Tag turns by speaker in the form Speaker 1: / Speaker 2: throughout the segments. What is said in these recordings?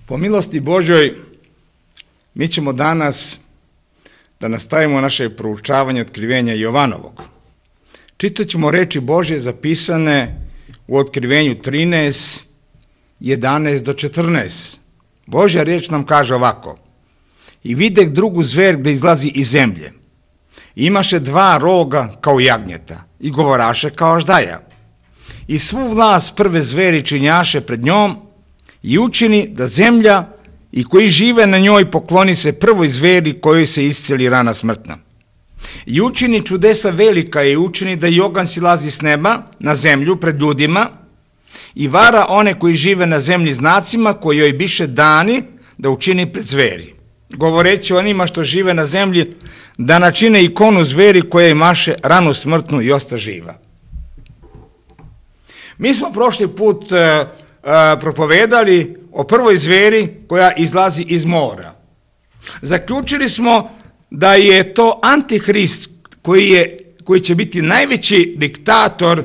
Speaker 1: Po milosti Božoj, mi ćemo danas da nastavimo naše proučavanje otkrivenja Jovanovog. Čitat ćemo reči Božje zapisane u Otkrivenju 13, 11 do 14. Božja riječ nam kaže ovako: I videh drugu zver gde izlazi iz zemlje. Imaše dva roga kao jagnjeta i govoraše kao aždaja. I svu vlast prve zveri činjaše pred njom i učini da zemlja i koji žive na njoj pokloni se prvoj zveri kojoj se isceli rana smrtna. I učini čudesa velika i učini da i oganj silazi s neba na zemlju pred ljudima i vara one koji žive na zemlji znacima koji joj biše dani da učini pred zveri. Govoreći onima što žive na zemlji da načine ikonu zveri koja imaše ranu smrtnu i osta živa. Mi smo prošli put propovedali o prvoj zveri koja izlazi iz mora. Zaključili smo da je to Antihrist koji će biti najveći diktator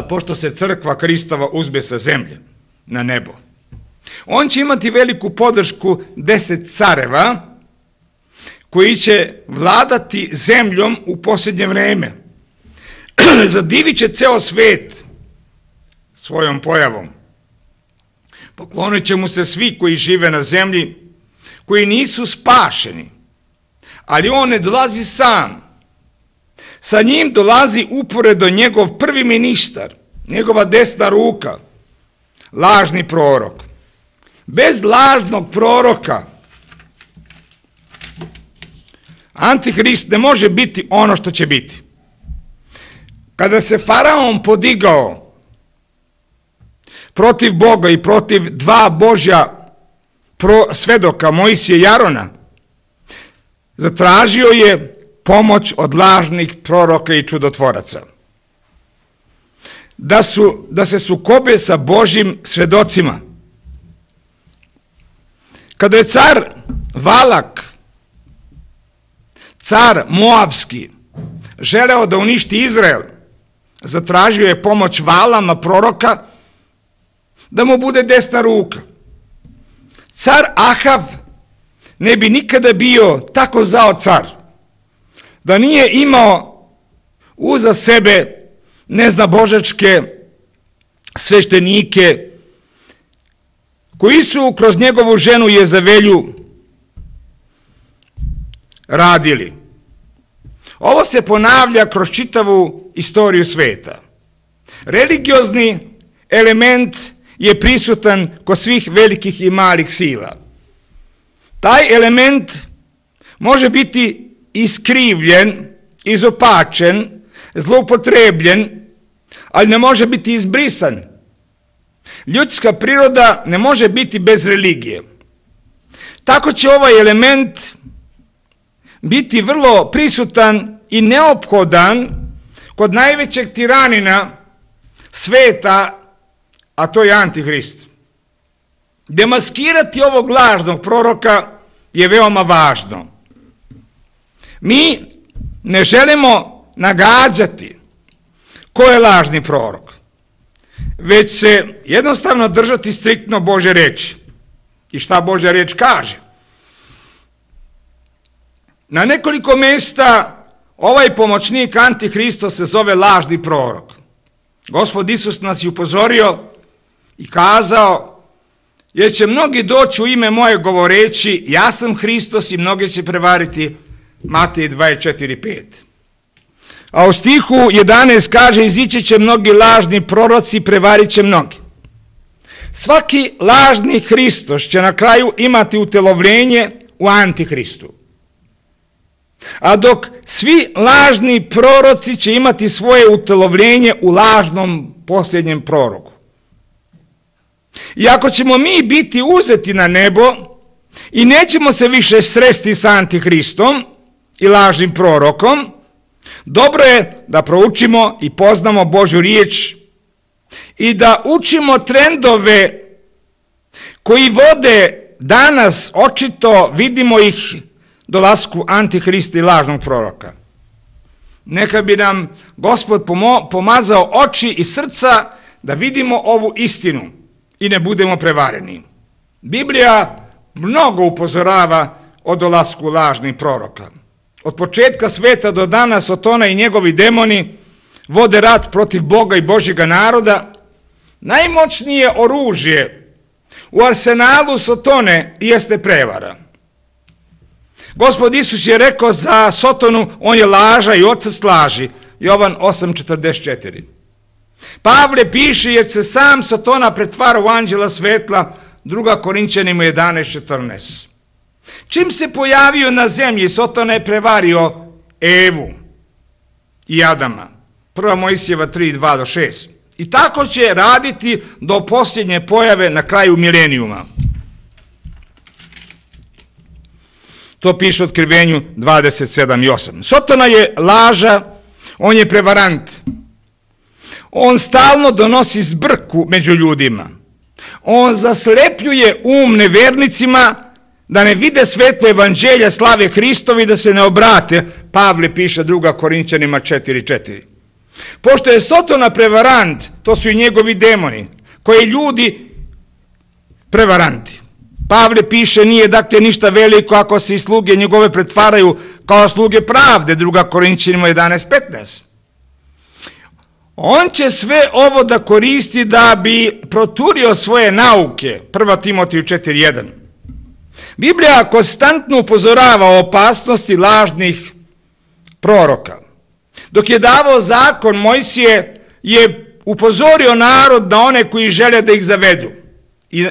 Speaker 1: pošto se crkva Hristova uzbe sa zemlje na nebo. On će imati veliku podršku 10 careva koji će vladati zemljom u posljednje vreme. Zadivit će ceo svet svojom pojavom. Poklonit će mu se svi koji žive na zemlji, koji nisu spašeni, ali on ne dolazi sam. Sa njim dolazi uporedo njegov prvi ministar, njegova desna ruka, lažni prorok. Bez lažnog proroka Antihrist ne može biti ono što će biti. Kada se Faraon podigao protiv Boga i protiv dva Božja svedoka, Mojsija i Arona, zatražio je pomoć od lažnih proroka i čudotvoraca. Da se sukobe sa Božjim svedocima. Kada je car Valak, car Moavski, želeo da uništi Izrael, zatražio je pomoć Valama proroka da mu bude desna ruka. Car Ahav ne bi nikada bio tako zao car da nije imao uza sebe neznabožačke sveštenike koji su kroz njegovu ženu Jezavelju radili. Ovo se ponavlja kroz čitavu istoriju sveta. Religiozni element je prisutan kod svih velikih i malih sila. Taj element može biti iskrivljen, izopačen, zloupotrebljen, ali ne može biti izbrisan. Ljudska priroda ne može biti bez religije. Tako će ovaj element biti vrlo prisutan i neophodan kod najvećeg tiranina sveta, a to je Antihrist. Demaskirati ovog lažnog proroka je veoma važno. Mi ne želimo nagađati ko je lažni prorok, već se jednostavno držati striktno Božje reči. I šta Božja reč kaže? Na nekoliko mjesta ovaj pomoćnik Antihristo se zove lažni prorok. Gospod Isus nas je upozorio i kazao: jer će mnogi doći u ime moje govoreći ja sam Hristos i mnogi će prevariti. Matej 24:5. A u stihu 11 kaže: izići će mnogi lažni proroci i prevarit će mnogi. Svaki lažni Hristos će na kraju imati utelovljenje u Antihristu. A dok svi lažni proroci će imati svoje utelovljenje u lažnom posljednjem proroku. I ako ćemo mi biti uzeti na nebo i nećemo se više sresti sa Antihristom i lažnim prorokom, dobro je da proučimo i poznamo Božju riječ i da učimo trendove koji vode danas, očito vidimo ih, dolasku Antihrista i lažnog proroka. Neka bi nam Gospod pomazao oči i srca da vidimo ovu istinu i ne budemo prevareni. Biblija mnogo upozorava o dolasku lažnih proroka. Od početka sveta do danas Sotona i njegovi demoni vode rat protiv Boga i Božjega naroda. Najmoćnije oružje u arsenalu Sotone jeste prevara. Gospod Isus je rekao za Sotonu, on je laža i otac laži. Jovan 8,44. Pavle piše, jer se sam Sotona pretvara u anđela svetla, 2. Korinćanima 11,14. Čim se pojavio na zemlji, Sotona je prevario Evu i Adama. 1. Mojsijeva 3:2-6. I tako će raditi do posljednje pojave na kraju milenijuma. To piše u Otkrivenju 27:8. Sotona je laža, on je prevarant. On stalno donosi zbrku među ljudima. On zaslepljuje nevernicima da ne vide svetlo evanđelja slave Hristovi, da se ne obrate. Pavle piše 2. Korinćanima 4:4. Pošto je Sotona prevarant, to su i njegovi demoni, koji ljudi prevaranti. Pavle piše, nije dakle ništa veliko ako se i sluge njegove pretvaraju kao sluge pravde, 2. Korinćanima 11:15. On će sve ovo da koristi da bi proturio svoje nauke, 1. Timotiju 4:1. Biblija konstantno upozorava o opasnosti lažnih proroka. Dok je davao zakon, Mojsije je upozorio narod na one koji žele da ih zavedu.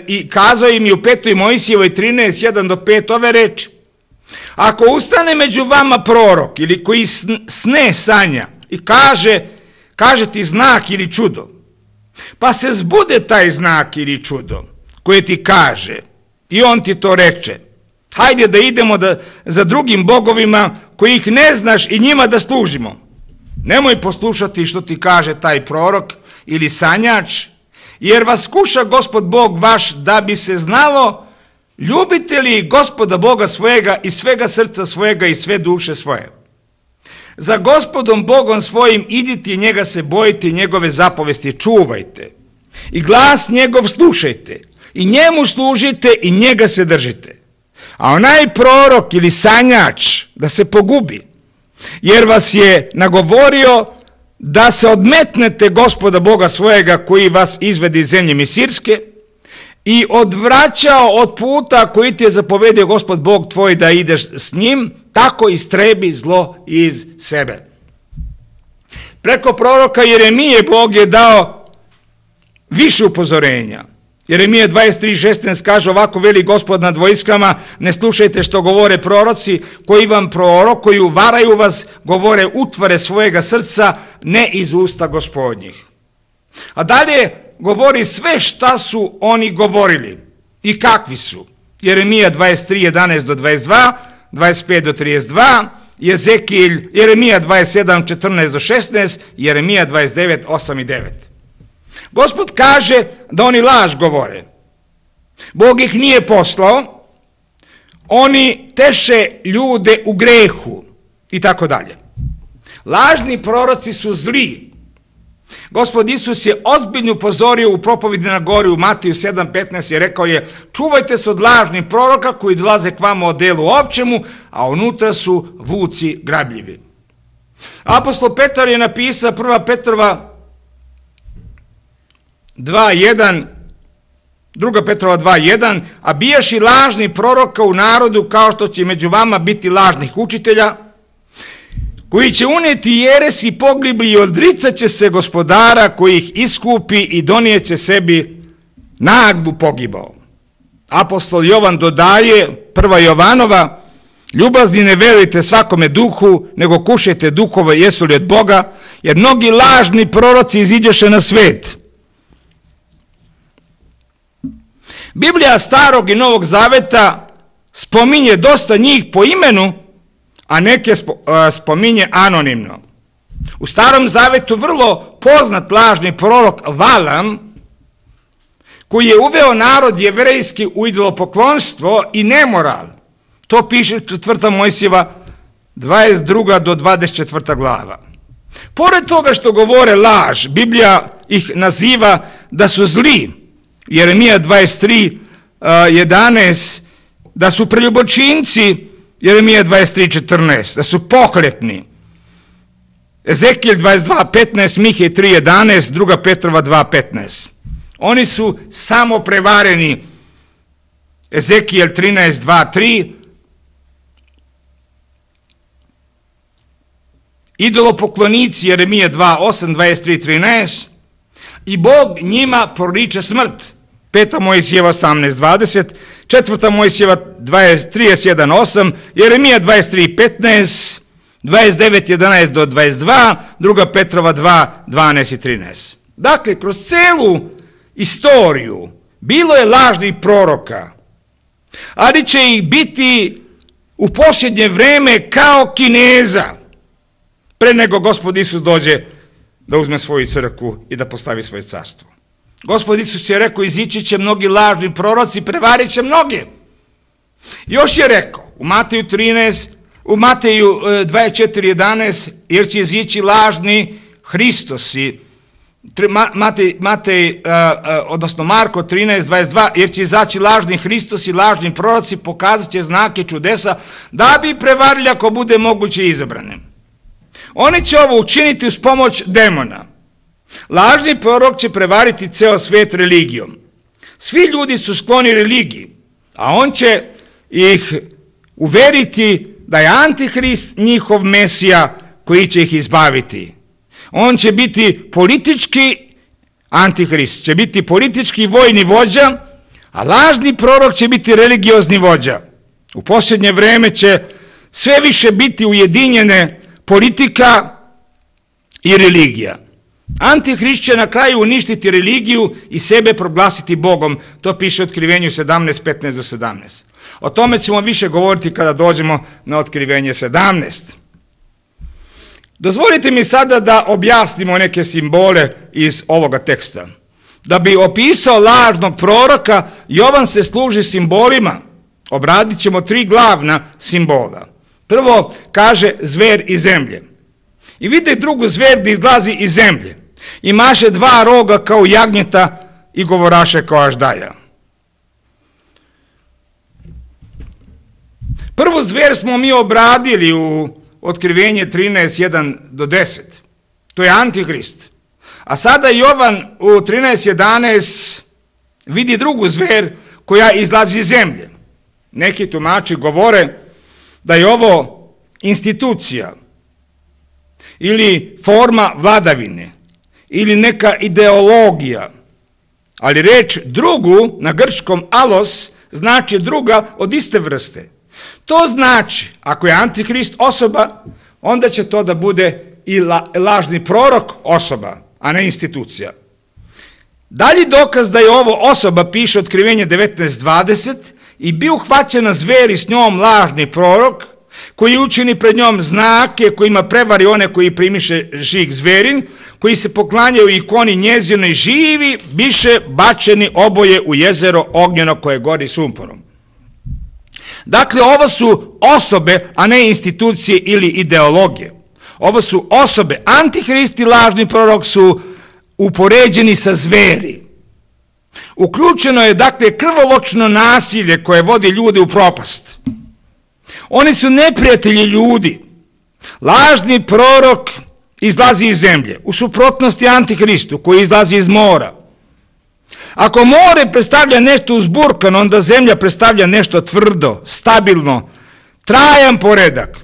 Speaker 1: I kazao im je u 5. Mojsijevoj 13:1-5 ove reči. Ako ustane među vama prorok ili koji sne sanja i kaže ti znak ili čudo, pa se zbude taj znak ili čudo koje ti kaže i on ti to reče, hajde da idemo za drugim bogovima kojih ne znaš i njima da služimo. Nemoj poslušati što ti kaže taj prorok ili sanjač, jer vas kuša Gospod Bog vaš da bi se znalo ljubite li Gospoda Boga svojega i svega srca svojega i sve duše svoje. Za Gospodom Bogom svojim idite i njega se bojite i njegove zapovesti čuvajte. I glas njegov slušajte i njemu služite i njega se držite. A onaj prorok ili sanjač da se pogubi, jer vas je nagovorio da se odmetnete Gospoda Boga svojega koji vas izvedi iz zemlje Misirske i odvraćao od puta koji ti je zapovedio Gospod Bog tvoj da ideš s njim, tako istrebi zlo iz sebe. Preko proroka Jeremije Bog je dao više upozorenja. Jeremija 23:16 kaže ovako, veli Gospod nad vojskama, ne slušajte što govore proroci koji vam prorokuju, varaju vas, govore utvare svojega srca, ne iz usta Gospodnjih. A dalje govori sve šta su oni govorili i kakvi su. Jeremija 23:11-22, 25-32, Jeremija 27:14-16, Jeremija 29:8-9. Gospod kaže da oni laž govore. Bog ih nije poslao, oni teše ljude u grehu i tako dalje. Lažni proroci su zli. Gospod Isus je ozbiljno upozorio u propovedi na gori u Matiju 7:15 i rekao je, čuvajte se od lažnih proroka koji dolaze k vama o delu ovčemu, a unutra su vuci grabljivi. Apostol Petar je napisao 1. Petrova 2:1, 2. Petrova 2:1, a bijaš i lažni proroka u narodu kao što će među vama biti lažnih učitelja, koji će unijeti jeres i pogibli i odricat će se Gospodara koji ih iskupi i donijeće sebi naglu pogibao. Apostol Jovan dodaje, 1. Jovanova, ljubazni ne verujte svakome duhu, nego kušajte duhove jesu li od Boga, jer mnogi lažni proroci iziđeše na svet. Biblija Starog i Novog Zaveta spominje dosta njih po imenu, a neke spominje anonimno. U Starom Zavetu vrlo poznat lažni prorok Valam, koji je uveo narod jevrejski u idolopoklonstvo i nemoral. To piše 4. Mojsijeva 22-24 glava. Pored toga što govore laž, Biblija ih naziva da su zli Jeremija 23, 11, da su preljubočinci, Jeremija 23, 14, da su pohlepni. Ezekijel 22, 15, Mihej 3, 11, 2. Petrova 2, 15. Oni su samo prevareni. Ezekijel 13, 2, 3. Idolopoklonici, Jeremija 2, 8, 23, 13. I Bog njima proriče smrt. 5. Mojsijeva 18, 20. 4. Mojsijeva 31, 8. Jeremija 23, 15. 29, 11 do 22. 2. Petrova 2, 12 i 13. Dakle, kroz celu istoriju bilo je lažnih proroka, ali će ih biti u posljednje vreme kao Kineza, pre nego Gospod Isus dođe da uzme svoju crkvu i da postavi svoje carstvo. Gospod Isus je rekao, izići će mnogi lažni proroci, prevarit će mnoge. Još je rekao u Mateju 24, 11, jer će izići lažni Hristosi, odnosno Marko 13, 22, jer će izaći lažni Hristosi, lažni proroci, pokazat će znake čudesa, da bi prevarili ako bude moguće izabrane. Oni će ovo učiniti uz pomoć demona. Lažni prorok će prevariti ceo svet religijom. Svi ljudi su skloni religiji, a on će ih uveriti da je Antihrist njihov Mesija koji će ih izbaviti. On će biti politički Antihrist, će biti politički vojni vođa, a lažni prorok će biti religiozni vođa. U posljednje vreme će sve više biti ujedinjene politika i religija. Antihrist će na kraju uništiti religiju i sebe proglasiti Bogom. To piše u Otkrivenju 17, 15 do 17. O tome ćemo više govoriti kada dođemo na Otkrivenje 17. Dozvolite mi sada da objasnimo neke simbole iz ovoga teksta. Da bi opisao lažnog proroka, Jovan se služi simbolima. Obradit ćemo 3 glavna simbola. Prvo kaže zver iz zemlje. I vide drugu zver da izlazi iz zemlje. Imaše 2 roga kao jagnjeta i govoraše kao aždaja. Prvu zver smo mi obradili u Otkrivenje 13, 1 do 10. To je Antihrist. A sada Jovan u 13, 11 vidi drugu zver koja izlazi iz zemlje. Neki tumači govore da je ovo institucija ili forma vladavine ili neka ideologija. Ali reč drugu na grčkom alos znači druga od iste vrste. To znači, ako je Antihrist osoba, onda će to da bude i lažni prorok osoba, a ne institucija. Dalji dokaz da je ovo osoba piše Otkrivenje 19.20 i bio uhvaćena zver i s njom lažni prorok, koji učini pred njom znake, kojima prevari one koji primiše žig zverin, koji se poklanjaju ikoni njezinoj živi, biše bačeni oboje u jezero ognjeno koje gori sumporom. Dakle, ovo su osobe, a ne institucije ili ideologije. Ovo su osobe. Antihrist i lažni prorok su upoređeni sa zveri. Uključeno je, dakle, krvoločno nasilje koje vodi ljude u propast. Oni su neprijatelji ljudi. Lažni prorok izlazi iz zemlje, u suprotnosti Antihristu koji izlazi iz mora. Ako more predstavlja nešto uzburkano, onda zemlja predstavlja nešto tvrdo, stabilno, trajan poredak.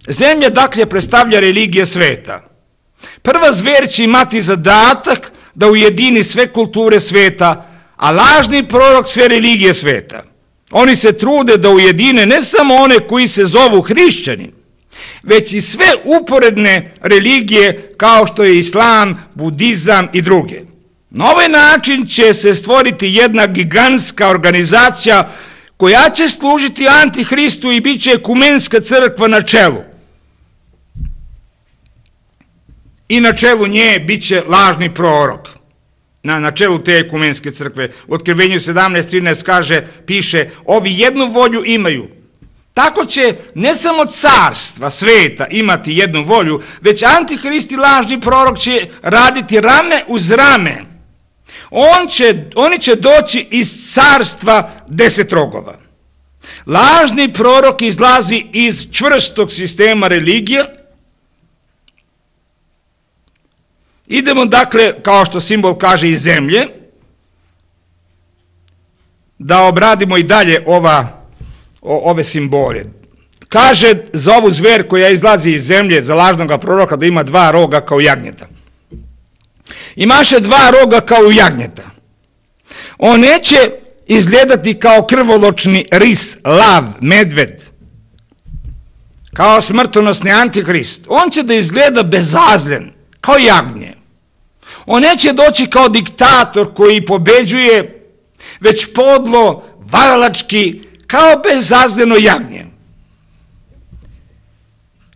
Speaker 1: Zemlja, dakle, predstavlja religije sveta. Prva zver će imati zadatak da ujedini sve kulture sveta, a lažni prorok sve religije sveta. Oni se trude da ujedine ne samo one koji se zovu hrišćani, već i sve uporedne religije kao što je islam, budizam i druge. Na ovaj način će se stvoriti jedna gigantska organizacija koja će služiti Antihristu i bit će ekumenska crkva na čelu. I na čelu nje bit će lažni prorok. Na čelu te ekumenske crkve. U Otkrivenju 17.13 kaže, piše, ovi jednu volju imaju. Tako će ne samo carstva sveta imati jednu volju, već Antihrist i lažni prorok će raditi rame uz rame. Oni će doći iz carstva 10 rogova. Lažni prorok izlazi iz čvrstog sistema religije. Idemo dakle, kao što simbol kaže, iz zemlje, da obradimo i dalje ove simbole. Kaže za ovu zver koja izlazi iz zemlje, za lažnog proroka, da ima 2 roga kao jagnjeta. Imaše 2 roga kao jagnjeta. On neće izgledati kao krvoločni ris, lav, medved, kao smrtonosni antihrist. On će da izgleda bezazlen, kao jagnje. On neće doći kao diktator koji pobeđuje, već podlo, varalački, kao bezazleno jagnje.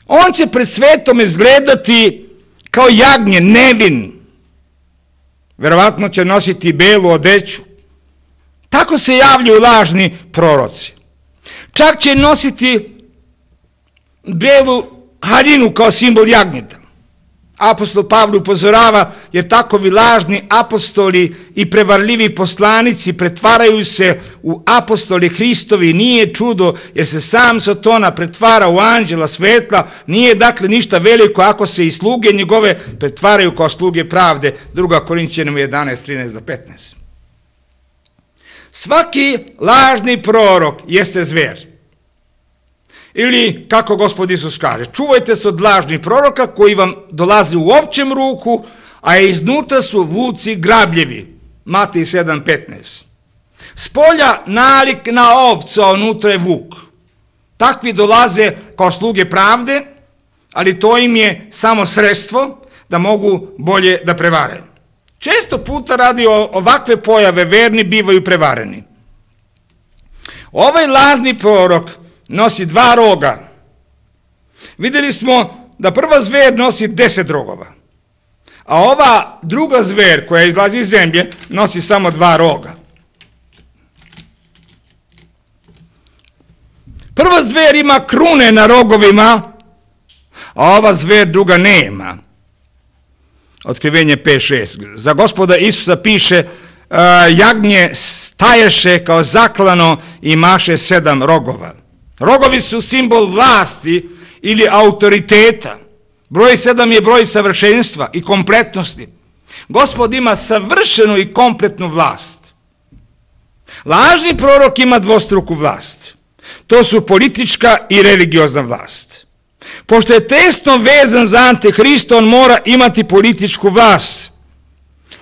Speaker 1: On će pred svetom izgledati kao jagnje, nevin. Verovatno će nositi belu odeću. Tako se javljaju lažni proroci. Čak će nositi belu haljinu kao simbol jagnjeta. Apostol Pavle upozorava, jer takovi lažni apostoli i prevarljivi poslanici pretvaraju se u apostoli Hristovi. Nije čudo, jer se sam Sotona pretvara u anđela svetla. Nije dakle ništa veliko ako se i sluge njegove pretvaraju kao sluge pravde. 2. Korinćanima 11:13-15. Svaki lažni prorok jeste zver. Ili, kako Gospod Isus kaže, čuvajte se od lažnih proroka koji vam dolaze u ovčjem ruku, a iznutra su vuci grabljevi. Matej 7:15. Spolja nalik na ovcu, a unutra je vuk. Takvi dolaze kao sluge pravde, ali to im je samo sredstvo da mogu bolje da prevare. Često puta radi ovakve pojave verni bivaju prevareni. Ovaj lažni prorok nosi 2 roga. Vidjeli smo da prva zver nosi 10 rogova, a ova druga zver koja izlazi iz zemlje nosi samo 2 roga. Prva zver ima krune na rogovima, a ova zver druga nema. Otkrivenje 5:6. Za Gospoda Isusa piše, jagnje staješe kao zaklano i imaše 7 rogova. Rogovi su simbol vlasti ili autoriteta. Broj 7 je broj savršenstva i kompletnosti. Gospod ima savršenu i kompletnu vlast. Lažni prorok ima dvostruku vlast. To su politička i religiozna vlast. Pošto je tesno vezan za Antihrista, on mora imati političku vlast.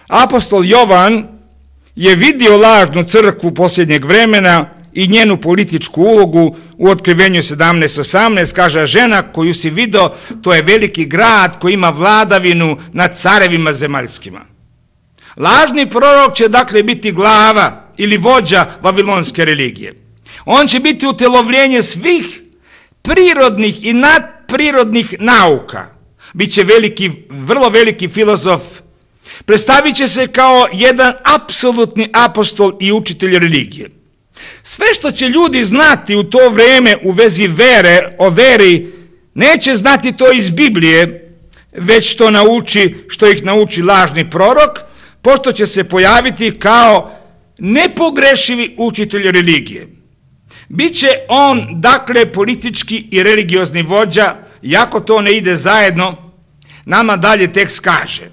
Speaker 1: Apostol Jovan je vidio lažnu crkvu posljednjeg vremena i njenu političku ulogu. U Otkrivenju 17:18 kaže, žena koju si vidio, to je veliki grad koji ima vladavinu nad carevima zemaljskima. Lažni prorok će dakle biti glava ili vođa vavilonske religije. On će biti utjelovljenje svih prirodnih i nadprirodnih nauka. Biće veliki, vrlo veliki filozof. Predstavit će se kao jedan apsolutni apostol i učitelj religije. Sve što će ljudi znati u to vrijeme u vezi o veri, neće znati to iz Biblije, već što ih nauči lažni prorok, pošto će se pojaviti kao nepogrešivi učitelj religije. Biće on, dakle, politički i religiozni vođa, iako to ne ide zajedno, nama dalje tekst kaže.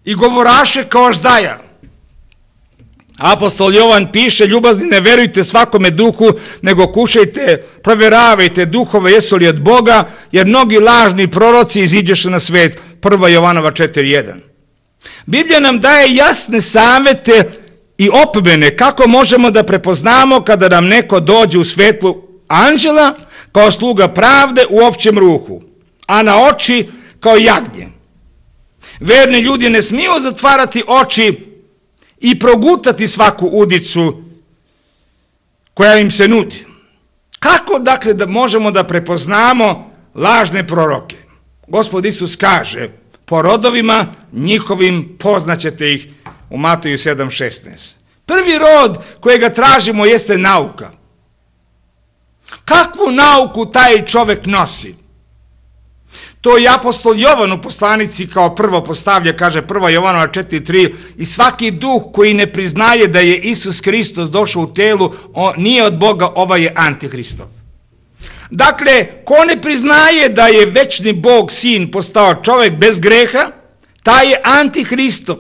Speaker 1: I govoraše kao ždaja. Apostol Jovan piše, ljubazni, ne verujte svakome duhu, nego kušajte, provjeravajte duhove jesu li od Boga, jer mnogi lažni proroci iziđeše na svet. 1. Jovanova 4:1. Biblija nam daje jasne savete i opomene kako možemo da prepoznamo kada nam neko dođe u svetlu anđela kao sluga pravde u ovčjem ruhu, a na oči kao jagnje. Verni ljudi ne smiju zatvarati oči i progutati svaku udicu koja im se nudi. Kako dakle da možemo da prepoznamo lažne proroke? Gospod Isus kaže, po rodovima njihovim poznaćete ih, u Mateju 7:16. Prvi rod kojega tražimo jeste nauka. Kakvu nauku taj čovjek nosi? To i apostol Jovan u poslanici kao prvo postavlja, kaže 1. Jovanova 4.3, i svaki duh koji ne priznaje da je Isus Hristos došao u telu, nije od Boga, ovaj je antihristov. Dakle, ko ne priznaje da je večni Bog sin postao čovjek bez greha, taj je antihristov.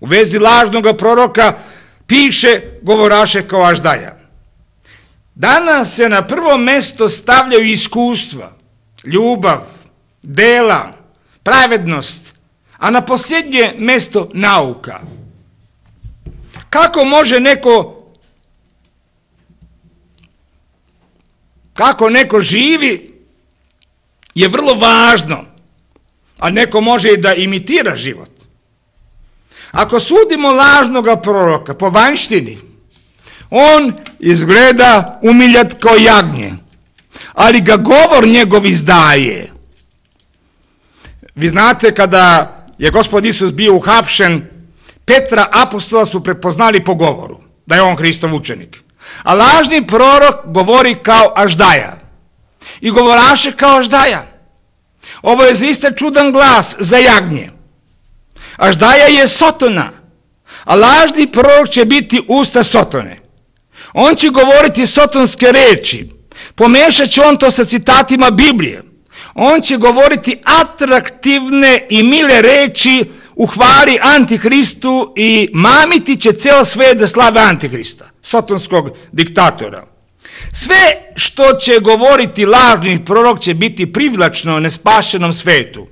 Speaker 1: U vezi lažnog proroka piše govoraše kao Aždaja. Danas se na prvo mesto stavljaju iskustva, ljubav, dela, pravednost, a na posljednje mesto nauka. Kako neko živi je vrlo važno, a neko može i da imitira život. Ako sudimo lažnoga proroka po vanjštini, on izgleda umiljat kao jagnje, ali ga govor njegov izdaje. Vi znate, kada je Gospod Isus bio uhapšen, Petra apostola su prepoznali po govoru da je on Hristov učenik. A lažni prorok govori kao Aždaja i govoraše kao Aždaja. Ovo je zaista čudan glas za jagnje. Aždaja je Sotona, a lažni prorok će biti usta Sotone. On će govoriti sotonske reči, pomešat će on to sa citatima Biblije. On će govoriti atraktivne i mile reči u hvali Antihristu i mamiti će ceo svet da slave Antihrista, sotonskog diktatora. Sve što će govoriti lažni prorok će biti privlačno nespašenom svetu.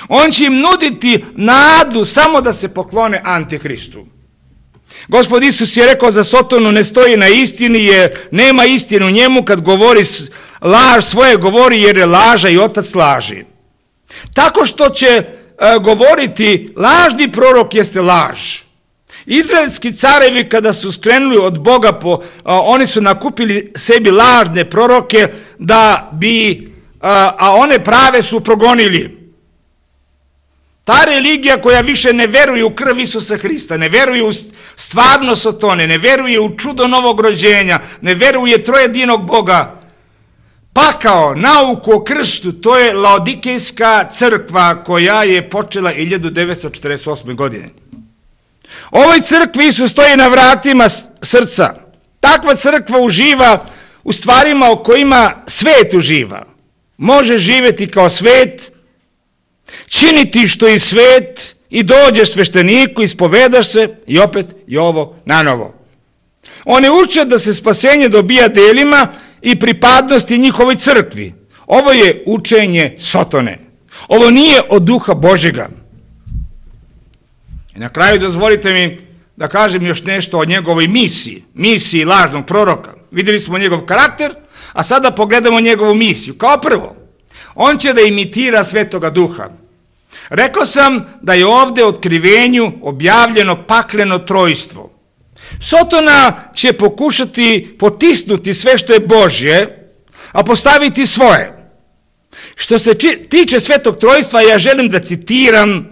Speaker 1: On će im nuditi nadu samo da se poklone Antihristu. Gospod Isus je rekao za Sotonu, ne stoji na istini jer nema istinu u njemu, kad govori laž svoje govori jer je laža i otac laži. Tako što će govoriti lažni prorok jeste laž. Izraelski carevi kada su skrenuli od Boga, oni su nakupili sebi lažne proroke da bi, a one prave su progonili. Ta religija koja više ne veruje u krv Isusa Hrista, ne veruje u stvarnost Sotone, ne veruje u čudo novog rođenja, ne veruje trojedinog Boga, pakao, nauku o krstu, to je Laodikejska crkva koja je počela 1948. godine. Ovoj crkvi Isus stoji na vratima srca. Takva crkva uživa u stvarima o kojima svet uživa. Može živjeti kao svet, činiti što i svet i dođeš svešteniku, ispovedaš se i opet je ovo na novo. One uče da se spasenje dobija delima i pripadnosti njihovoj crkvi. Ovo je učenje Sotone. Ovo nije od duha Božjega. I na kraju dozvolite mi da kažem još nešto o njegovoj misiji lažnog proroka. Vidjeli smo njegov karakter, a sada pogledamo njegovu misiju. Kao prvo, on će da imitira Svetoga Duha. Rekao sam da je ovdje u otkrivenju objavljeno pakleno trojstvo. Sotona će pokušati potisnuti sve što je Božje, a postaviti svoje. Što se tiče Svetog trojstva, ja želim da citiram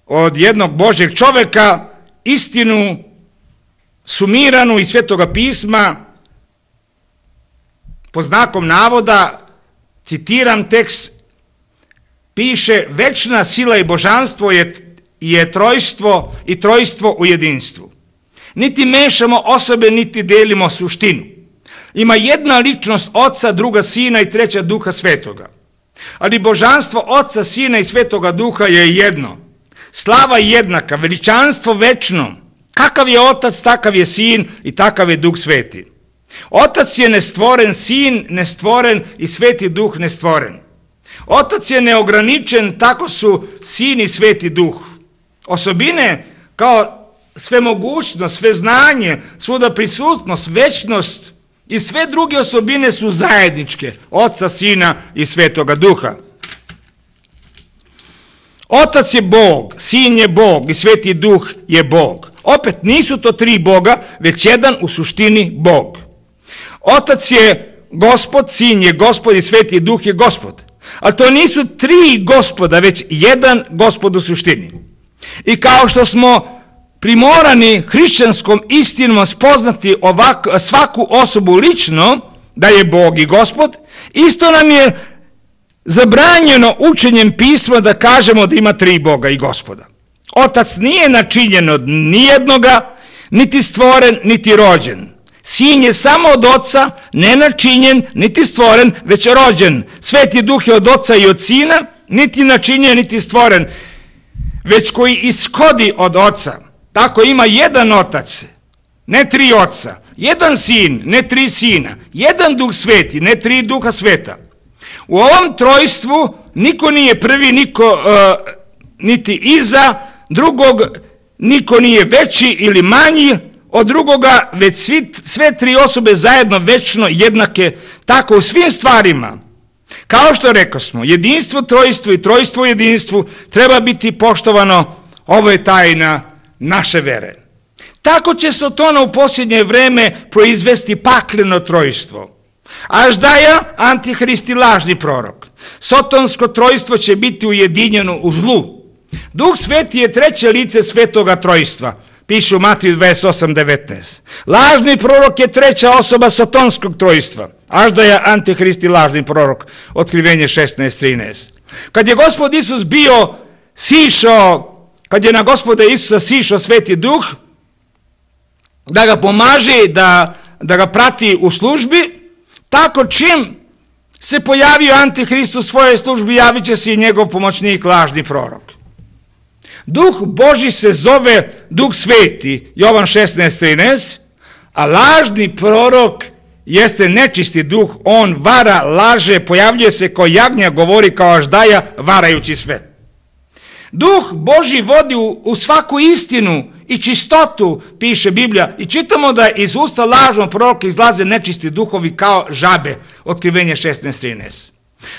Speaker 1: od jednog Božjeg čoveka istinu sumiranu iz Svetoga pisma pod znakom navoda, citiram tekst, piše: večna sila i božanstvo je trojstvo i trojstvo u jedinstvu. Niti mešamo osobe, niti delimo suštinu. Ima jedna ličnost Oca, druga Sina i treća Duha Svetoga. Ali božanstvo Oca, Sina i Svetoga Duha je jedno. Slava jednaka, veličanstvo večno. Kakav je Otac, takav je Sin i takav je Duh Sveti. Otac je nestvoren, Sin nestvoren i Sveti Duh nestvoren. Otac je neograničen, tako su Sin i Sveti Duh. Osobine kao svemogućnost, sveznanje, svuda prisutnost, večnost i sve druge osobine su zajedničke Oca, Sina i Svetoga Duha. Otac je Bog, Sin je Bog i Sveti Duh je Bog. Opet nisu to tri Boga, već jedan u suštini Bog. Otac je Gospod, Sin je Gospod i Sveti Duh je Gospod. Ali to nisu tri Gospoda, već jedan Gospod u suštini. I kao što smo primorani hrišćanskom istinom spoznati svaku osobu lično, da je Bog i Gospod, isto nam je zabranjeno učenjem pisma da kažemo da ima 3 Boga i Gospoda. Otac nije načinjen od nijednoga, niti stvoren, niti rođen. Sin je samo od Oca, ne načinjen, niti stvoren, već rođen. Sveti Duh je od Oca i od Sina, niti načinjen, niti stvoren, već koji ishodi od Oca. Tako ima jedan Otac, ne 3 Oca, jedan Sin, ne 3 Sina, jedan Duh Sveti, ne 3 Duha Sveta. U ovom trojstvu niko nije prvi, niko niti iza drugog, niko nije veći ili manji od drugoga, već sve 3 osobe zajedno večno jednake, tako u svim stvarima. Kao što rekosmo, jedinstvo trojstvo i trojstvo jedinstvu treba biti poštovano, ovo je tajna naše vere. Tako će Sotona u posljednje vreme proizvesti pakleno trojstvo. Aždaja, antihrist i lažni prorok. Sotonsko trojstvo će biti ujedinjeno u zlu. Duh Sveti je 3. lice svetoga trojstva, piše u Matiju 28:19. Lažni prorok je 3. osoba sotonskog trojstva. Aždaja, antihrist i lažni prorok, Otkrivenje 16:13. Kad je Gospod Isus kad je na Gospoda Isusa sišao Sveti Duh, da ga pomaže, da ga prati u službi, tako čim se pojavio antihrist u svojoj službi, javit će se i njegov pomoćnik, lažni prorok. Duh Božji se zove Duh Sveti, Jovan 16:13, a lažni prorok jeste nečisti duh, on vara, laže, pojavljuje se kao jagnja, govori kao aždaja, varajući sve. Duh Božji vodi u svaku istinu i čistotu, piše Biblija, i čitamo da iz usta lažnog proroka izlaze nečisti duhovi kao žabe, Otkrivenje 16:13.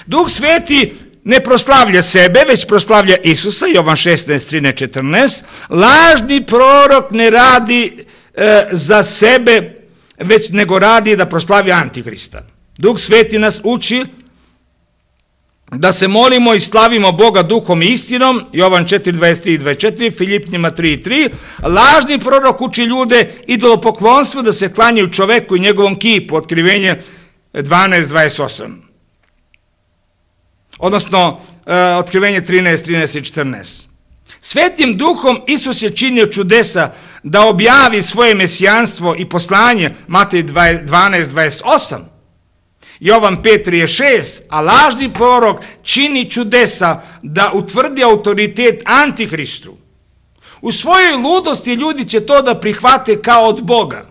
Speaker 1: Duh Sveti ne proslavlja sebe, već proslavlja Isusa, Jovan 16:13-14. Lažni prorok ne radi za sebe, već nego radi da proslavi antihrista. Duh Sveti nas uči da se molimo i slavimo Boga duhom i istinom, Jovan 4:23-24, Filipnjima 3:3. Lažni prorok uči ljude idolopoklonstvu, da se klanjaju čoveku i njegovom kipu, Otkrivenje 12:28. Odnosno, Otkrivenje 13:13-14. Svetim duhom Isus je činio čudesa da objavi svoje mesijanstvo i poslanje, Matej 12:28. Jovan 5:36, a lažni prorok čini čudesa da utvrdi autoritet antihristu. U svojoj ludosti ljudi će to da prihvate kao od Boga.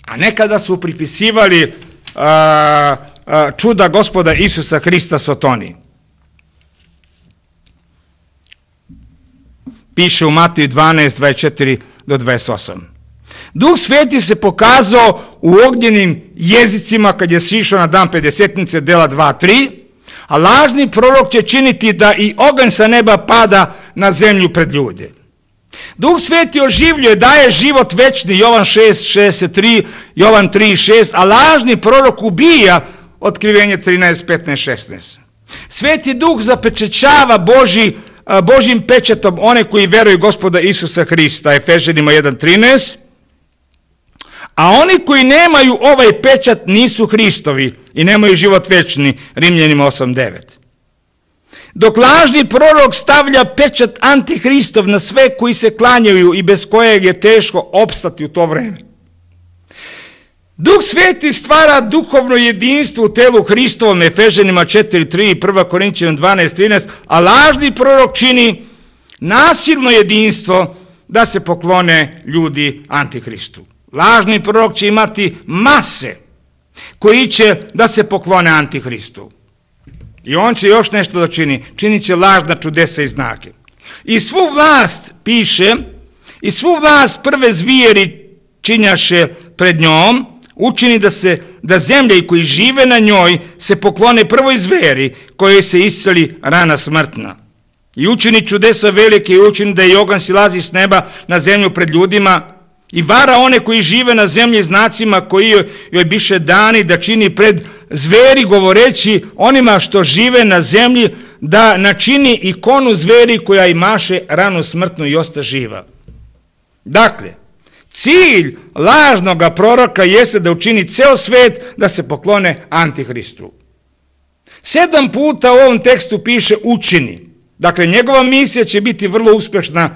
Speaker 1: A nekada su pripisivali čuda Gospoda Isusa Hrista Sotoni. Piše u Mateju 12:24-28. Duh Sveti se pokazao u ognjenim jezicima kad je sišao na dan Pedesetnice, dela 2:3, a lažni prorok će činiti da i oganj sa neba pada na zemlju pred ljude. Duh Sveti oživljuje, daje život večni, Jovan 6:63, Jovan 3:6, a lažni prorok ubija, Otkrivenje 13:15-16. Sveti Duh zapečećava Božjim pečatom one koji veruju Gospoda Isusa Hrista, Efežanima 1:13, a oni koji nemaju ovaj pečat nisu Hristovi i nemaju život večni, Rimljanima 8:9. Dok lažni prorok stavlja pečat antihristov na sve koji se klanjaju i bez kojeg je teško opstati u to vreme. Duh Sveti stvara duhovno jedinstvo u telu Hristovom, Efežanima 4:3 i 1. Korinćanima 12:13, a lažni prorok čini nasilno jedinstvo da se poklone ljudi antihristu. Lažni prorok će imati mase koji će da se poklone antihristu. I on će još nešto da čini. Činit će lažna čudesa i znake. I svu vlast, piše, i svu vlast prve zvijeri činjaše pred njom, učini da zemlje i koji žive na njoj se poklone prvoj zveri kojoj se isceli rana smrtna. I učini čudesa velike i učini da i oganj silazi s neba na zemlju pred ljudima i vara one koji žive na zemlji znacima koji joj biše dani da čini pred zveri, govoreći onima što žive na zemlji da načini ikonu zveri koja imaše ranu smrtnu i osta živa. Dakle, cilj lažnoga proroka jeste da učini ceo svet da se poklone antihristu. 7 puta u ovom tekstu piše učini. Dakle, njegova misija će biti vrlo uspješna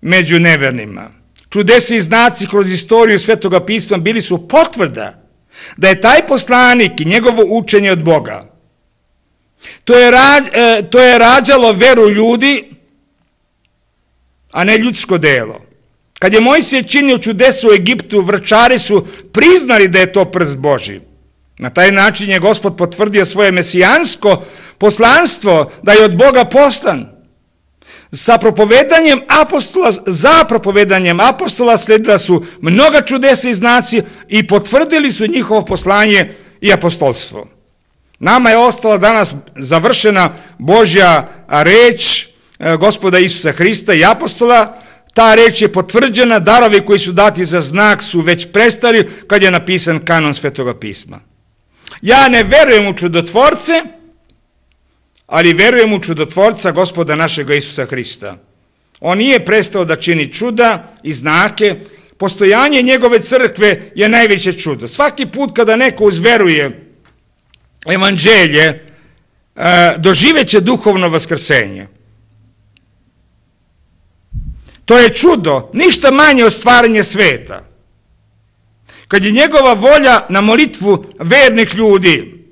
Speaker 1: među nevernima. Čudesa i znaci kroz istoriju Svetoga pisma bili su potvrda da je taj poslanik i njegovo učenje od Boga. To je rađalo veru ljudi, a ne ljudsko delo. Kad je Mojsije činio čudesa u Egiptu, vrčari su priznali da je to prst Božji. Na taj način je Gospod potvrdio svoje mesijansko poslanstvo da je od Boga poslan. Za propovedanjem apostola sledila su mnoga čudesa i znaci i potvrdili su njihovo poslanje i apostolstvo. Nama je ostala danas završena Božja reč Gospoda Isusa Hrista i apostola. Ta reč je potvrđena, darovi koji su dati za znak su već prestali kad je napisan kanon Svetoga pisma. Ja ne verujem u čudotvorce, ali verujem u čudotvorca Gospoda našega Isusa Hrista. On nije prestao da čini čuda i znake. Postojanje njegove crkve je najveće čudo. Svaki put kada neko uzveruje evanđelje, doživeće duhovno vaskrsenje. To je čudo, ništa manje od stvaranja sveta. Kad je njegova volja na molitvu vernih ljudi,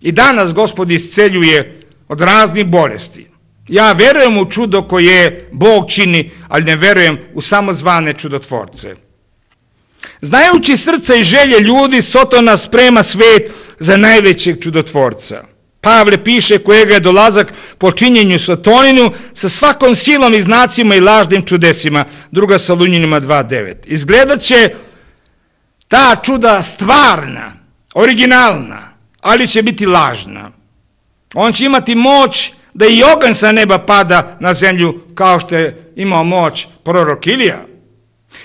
Speaker 1: i danas Gospod isceljuje od raznih bolesti. Ja verujem u čudo koje Bog čini, ali ne verujem u samozvane čudotvorce. Znajući srca i želje ljudi, Sotona sprema svet za najvećeg čudotvorca. Pavle piše kojega je dolazak po činjenju Sotoninu sa svakom silom i znacima i lažnim čudesima. 2. Salunjanima 2.9. Izgledat će ta čuda stvarna, originalna, ali će biti lažna. On će imati moć da i oganj sa neba pada na zemlju kao što je imao moć prorok Ilija.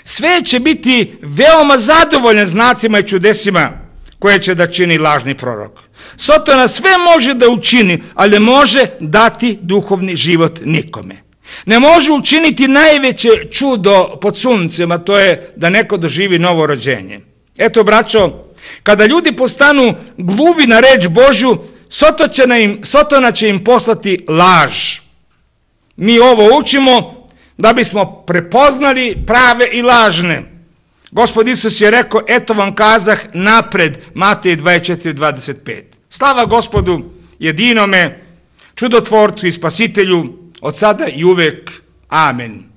Speaker 1: Sve će biti veoma zadovoljan znacima i čudesima koje će da čini lažni prorok. Sotona sve može da učini, ali ne može dati duhovni život nikome. Ne može učiniti najveće čudo pod suncem, a to je da neko doživi novo rođenje. Eto, braćo, kada ljudi postanu gluvi na reč Božju, Sotona će im poslati laž. Mi ovo učimo da bismo prepoznali prave i lažne. Gospod Isus je rekao, eto vam kazah napred, Matej 24.25. Slava Gospodu jedinome, čudotvorcu i spasitelju, od sada i uvek. Amen.